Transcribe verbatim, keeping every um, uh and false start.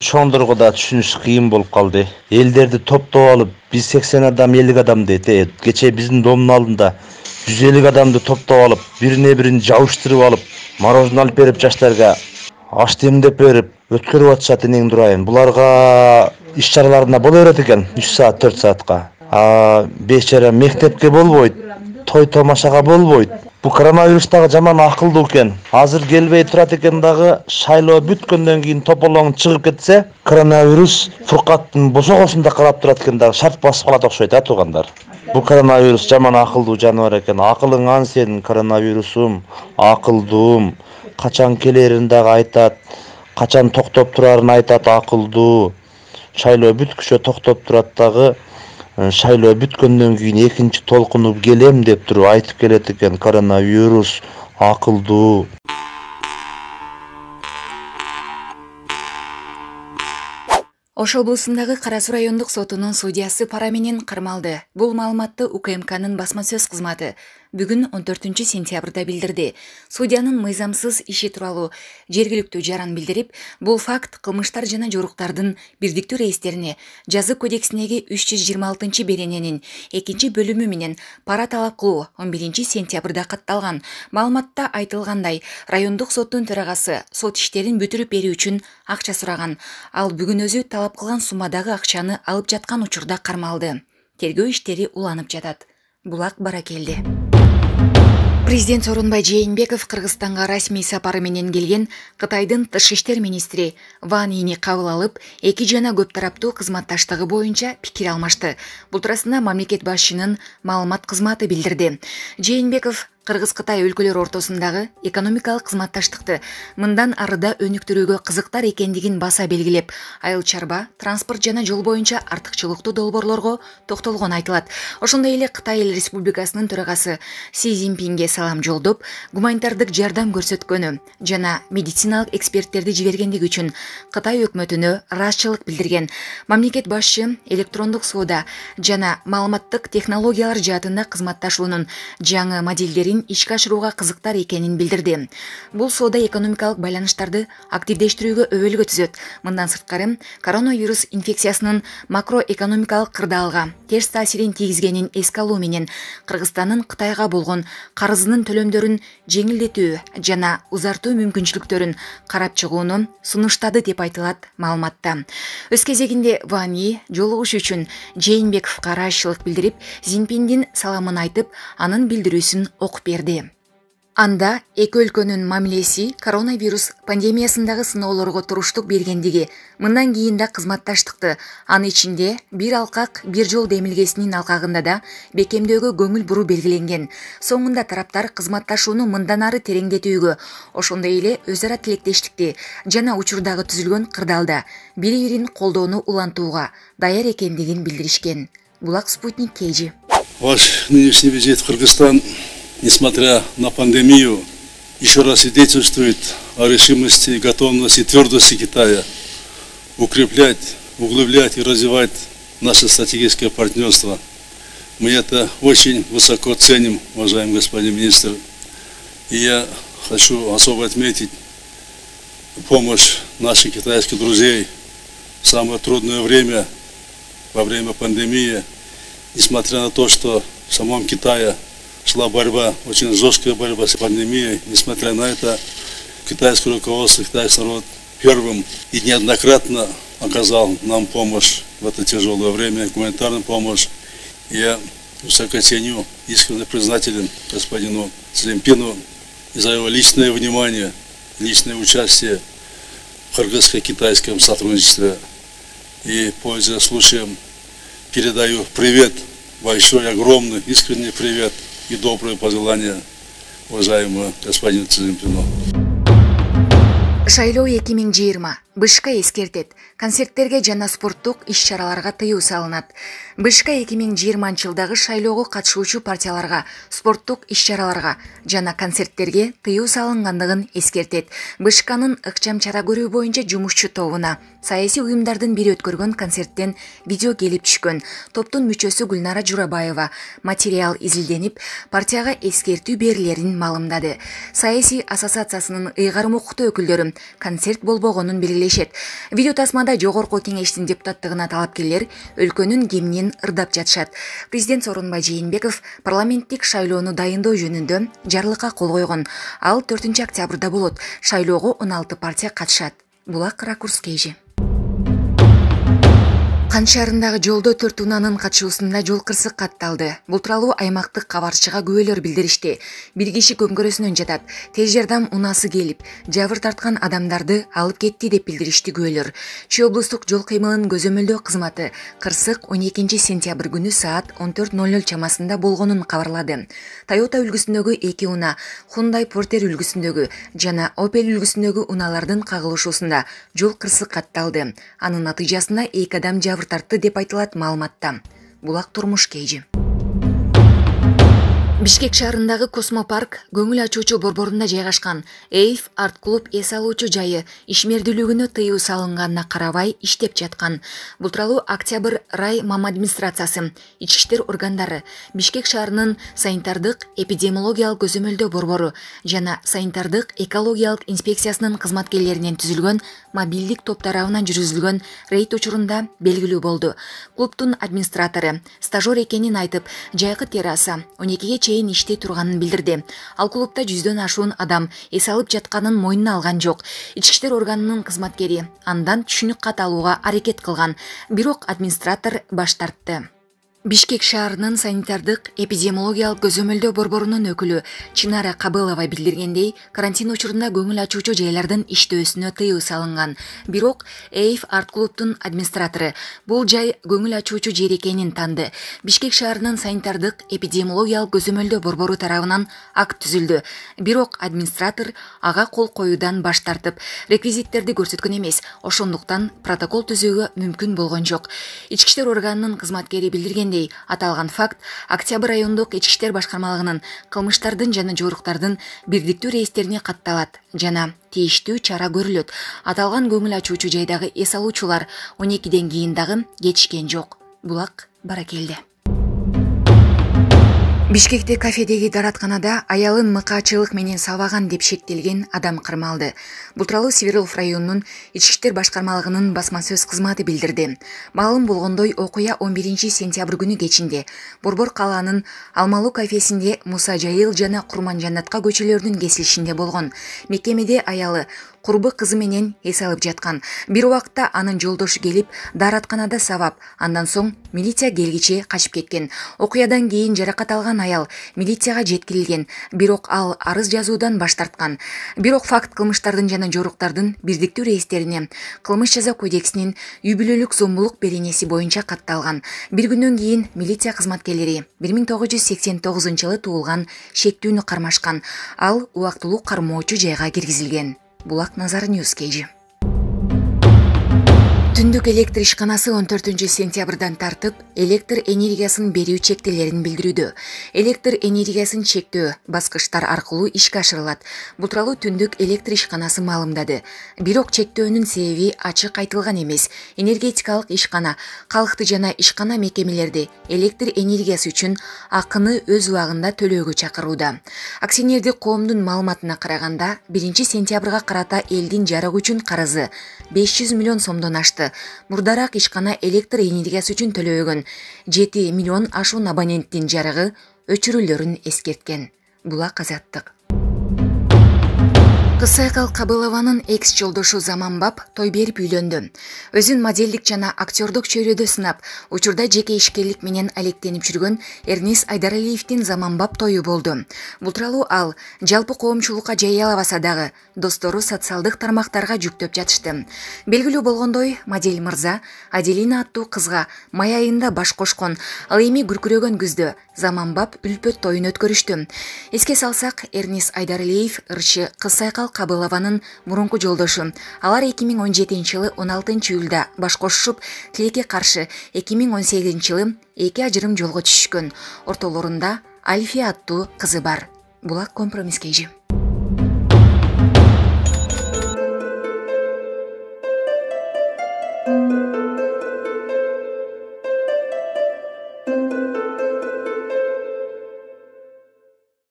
Чоңдорго да түшүнүш кыйын болуп калды. Элдерди топтоп алып, биз сексен адам, элүү адам дейт. Кече биздин домдун алдында жүз элүү адамды топтоп алып, бирине бирин жабыштырып алып, мороженое алып берип жаштарга аш демдеп берип өткөрүп атышат энең дурайын. Буларга иш чараларына боло берет экен үч саат, төрт саатка. А бечара мектепке болбойт, той томашага болбойт. Бул коронавирус дагы жаман акылдуу экен. Азыр келбей турат экен дагы, шайлоо бүткөндөн кийин тополоң чыгып кетсе, коронавирус Фуркаттын босогосунда карап турат экен дагы, шарт басып калат окшойт а туугандар. Бул коронавирус жаман акылдуу жаныбар экен. Акылыңан сенин коронавирусум, акылдуум. Качан келерин дагы айтат, качан токтоп турарын айтат, акылдуу. Шайлоо бүткүчө токтоп турат дагы, шайлоо бүткөндөн кийин экинчи толкуну келем деп туруп айтып келет экен. Коронавирус акылдуу. Ош облусундагы Кара Суу райондук сотунун судьясы пара менен кармалды. Бул маалыматты У К М К'нын басма сөз кызматы бүгүн он төртүнчү сентябрда билдирди. Судьянын мыйзамсыз иши тууралуу жергиликтүү жаран билдирип, бул факт кылмыштар жана жоруктардын бирдиктүү рейстерине жаза кодексиндеги үч жүз жыйырма алтынчы берененин экинчи бөлүмү менен пара талап кылуу он биринчи сентябрда катталган. Маалыматта айтылгандай, райондук соттун төрагасы сот иштерин бүтүрүп берүү үчүн акча сураган. Ал бүгүн өзү талап кылган суммадагы акчаны алып жаткан учурда кармалды. Тергөө иштери уланып жатат. Булак Баракелди. Президент Сооронбай Жээнбеков Кыргызстанга расмий сапары менен келген Кытайдын тышкы иштер министри Ван Йини кабыл алып, эки жана көп тараптуу кызматташтыгы боюнча пикир алмашты. Бул туурасында мамлекет башчынын маалымат кызматы билдирди. Жээнбеков Кыргыз-Кытай өлкөлөр ортосундагы экономикалык кызматташтыкты мындан арыда өнүктүрүүгө кызыктар экендигин баса белгилеп, айыл чарба, транспорт жана жол боюнча артыкчылыктуу долбоорлорго токтолгону айтылат. Ошондой эле Кытай Эл Республикасынын төрагасы Си Цзиньпинге салам жолдоп, гуманитардык жардам көрсөткөнү жана медициналык эксперттерди жибергендиги үчүн Кытай өкмөтүнө ыраазычылык билдирген. Мамлекет башчы электрондук соода жана маалыматтык технологиялар жаатында кызматташуунун жаңы модельдери ишке ашырууга кызыктар экенин билдирди. Бул соода экономикалык байланыштарды активдештирүүгө өбөлгө түзөт. Мындан сырткары, коронавирус инфекциясынын макроэкономикалык кырдаалга терс таасирин тийгизгенин эске алуу менен Кыргызстандын Кытайга болгон карызынын төлөмдөрүн жеңилдетүү жана узартуу мүмкүнчүлүктөрүн карап чыгууну сунуштады деп айтылат маалыматта. Өз кезегинде Ван Йи жолугуш үчүн Жээнбековго ыраазычылык билдирип, Цзиньпиндин саламын айтып, анын билдирүүсүн окуп берди. Анда эки өлкөнүн мамилеси коронавирус пандемиясындагы сыноолорго туруштук бергендиги, мындан кийин да кызматташтыкты, аны ичинде бир алкак, бир жол демилгесинин алкагында да бекемдөөгө көңүл буруу белгиленген. Соңунда тараптар кызматташууну мындан ары тереңдетүүгө, ошондой эле өз ара тилектештикти жана учурдагы түзүлгөн кырдаалда бири-бирин колдоону улантууга даяр экендигин билдиришкен. Булак Спутник Кей Жи. Ваш нынешний визит в Кыргызстан, несмотря на пандемию, еще раз свидетельствует о решимости и готовности и твердости Китая укреплять, углублять и развивать наше стратегическое партнерство. Мы это очень высоко ценим, уважаемый господин министр. И я хочу особо отметить помощь наших китайских друзей в самое трудное время, во время пандемии. Несмотря на то, что в самом Китае шла борьба, очень жесткая борьба с пандемией, несмотря на это, китайское руководство, китайский народ первым и неоднократно оказал нам помощь в это тяжелое время, гуманитарную помощь. Я высоко ценю, искренне признателен господину Цзиньпину за его личное внимание, личное участие в кыргызско-китайском сотрудничестве. И, пользуясь случаем, передаю привет, большой, огромный, искренний привет и добрые пожелания уважаемому господину Цзиньпину. Шайлоо эки миң жыйырма БШК эскертет. Концерттерге жана спорттук иш-чараларга тыюу салынат. БШК эки миң жыйырманчы жылдагы шайлоого катышуучу партияларга, спорттук иш-чараларга жана концерттерге тыюу салынгандыгын эскертет. БШКнын ыкчам чара көрүү боюнча жумушчу тобуна саясий уюмдардын бири өткөргөн концерттен видео келип түшкөн. Топтун мүчөсү Гүлнара Журабаева материал изилденип, партияга эскертүү берилерин маалымдады. Саясий ассоциациясынын ыйгарым укуктуу өкүлдөрү концерт болбогонун белгилеген. пикирлешет. Видео тасмада жогорку кеңештин депутаттыгына талапкерлер өлкөнүн кеминен ырдап жатышат. Президент Сооронбай Жээнбеков парламенттик шайлоону дайындоо жөнүндө жарлыкка кол койгон. Ал төртүнчү октябрда болот. Шайлоого он алты партия катышат. Булак ракурс кейжи. Кан шаарындагы жолдо төрт унаанын катышуусунда жол кырсык катталды. Бул тууралуу аймактык кабарчыга күбөлөр билдиришти. Бир киши көмкөрөсүнөн жатат. Тез жардам унаасы келип, жабыр тарткан адамдарды алып кетти деп билдиришти күбөлөр. Чүй облустук жол кыймылын көзөмөлдөө кызматы кырсык он экинчи сентябрь күнү саат он төрт ноль ноль чамасында болгонун кабарлады. Toyota үлгүсүндөгү эки унаа, Hyundai Porter үлгүсүндөгү жана Opel үлгүсүндөгү унаалардын кагылышуусунда жол кырсык катталды. Анын натыйжасында эки адам жабыр тартты деп айтылат маалыматта. Булак турмуш кейжи. Бишкек шаарындагы Космопарк көңүл ачуучу борборунда жайгашкан Эйф арт клуб эс алуучу жайы ишмердүүлүгүнө тыюу салынганына карабай иштеп жаткан. Бул тууралуу Октябрь рай мам администрациясы, ички иштер органдары, Бишкек шаарынын санитардык эпидемиологиялык көзөмөлдөө борбору жана санитардык экологиялык инспекциясынын кызматкерлеринен түзүлгөн мобилдик топ тарабынан жүргүзүлгөн рейд учурунда белгилүү болду. Клубтун администратору стажер экенин айтып, жайкы терраса он экиге чейин иштей турганын билдирди. Ал клубда жүздөн ашуун адам эс алып жатканын мойнуна алган жок. Ички иштер органынын кызматкери андан түшүнүк кат алууга аракет кылган, бирок администратор баш тартты. Бишкек шаарынын санитардык эпидемиологиялык көзөмөлдөө борборунун өкүлү Чынара Кабылова билдиргендей, карантин учурунда көңүл ачуучу жайлардын иштөөсүнө тыюу салынган. Бирок Эйф арт клубтун администратору бул жай көңүл ачуучу жер экенин танды. Бишкек шаарынын санитардык эпидемиологиялык көзөмөлдөө борбору тарабынан акт түзүлдү. Бирок администратор ага кол коюудан баш тартып, реквизиттерди көрсөткөн эмес, ошондуктан протокол түзүүгө мүмкүн болгон жок. Ички иштер органынын кызматкери билдирген аталган факт Октябрь райондук ички иштер башкармалыгынын кылмыштардын жана жоруктардын бирдиктүү рейстерине катталат жана тийиштүү чара көрүлөт. Аталган көңүл ачуучу жайдагы эс алуучулар он экиден кийин дагы кетишкен жок. Булак баракелде. Бишкекте кафедеги даратканада аялын мыкаачылык менен сабаган деп шектелген адам кырмалды. Бул тууралуу Свердлов районунун ички иштер башкармалыгынын басма сөз кызматы билдирди. Маалым болгондой, окуя он биринчи сентябрь күнү кечинде Борбор калаанын Алмалуу кафесинде Муса Жайыл жана Курманжанатка көчөлөрүнүн кесилишинде болгон. Мекемеде аялы курбу кызы менен эс алып жаткан. Бир убакта анын жолдошу келип, даратканада сабап, андан соң милиция келгиче качып кеткен. Окуядан кийин жаракат алган аял милицияга жеткирилген, бирок ал арыз жазуудан баш тарткан. Бирок факт кылмыштардын жана жоруктардын бирдиктүү рейстерине Кылмыш жаза кодексинин үй бүлөлүк зомбулук беренеси боюнча катталган. Бир күндөн кийин милиция кызматкерлери бир миң тогуз жүз сексен тогузунчу жылы туулган шектүүнү кармашкан. Ал убактылуу кармоочу жайга киргизилген. Булак Назар Ньюс кейжи. Түндүк электр ишканасы он төртүнчү сентябрдан тартып, электр энергиясын берүү чектелерин билдирүүдө. Электр энергиясын чектөө баскычтар аркылуу ишке ашырылат. Бул тууралуу Түндүк электр ишканасы маалымдады. Бирок чектөөнүн себеби ачык айтылган эмес. Энергетикалык ишкана калкты жана ишкана мекемелерди электр энергиясы үчүн акыны өз убагында төлөөгө чакырууда. Акционердик коомдун маалыматына караганда, биринчи сентябрга карата элдин жарык үчүн карызы беш жүз миллион сомдон ашты. Мурдараак ишкана электр энергиясы үчүн төлөөгөн жети миллион ашуун абоненттин жарыгы өчүрүлөрүн эскерткен. Булак Азаттык. Кызсайкал Кабылованын экс жолдошу Заманбап той берип үйлөндү. Өзүн моделдик жана актёрдук чөйрөдө сынап, учурда жеке ишкерлик менен алектенип жүргөн Эрнис Айдаралиевдин Заманбап тою болду. Бул тууралуу ал жалпы коомчулукка жарыялабаса дагы достору социалдык тармактарга жүктөп жатышты. Белгилүү болгондой, модель мырза Аделина аттуу кызга май айында баш кошкон. Ал эми күркүрөгөн күздө Заманбап үлпөт тоюн өткөрүштү. Эске салсак, Эрнис Айдаралиев ырчы Кызсайкал Кабылованын мурунку жолдошу. Алар эки миң он жетинчи жылы он алтынчы июлда баш кошушуп, тилекке каршы эки миң он сегизинчи жылы эки ажырым жолго түшүшкөн. Ортолорунда Альфия аттуу кызы бар. Булак компромисс кейжи.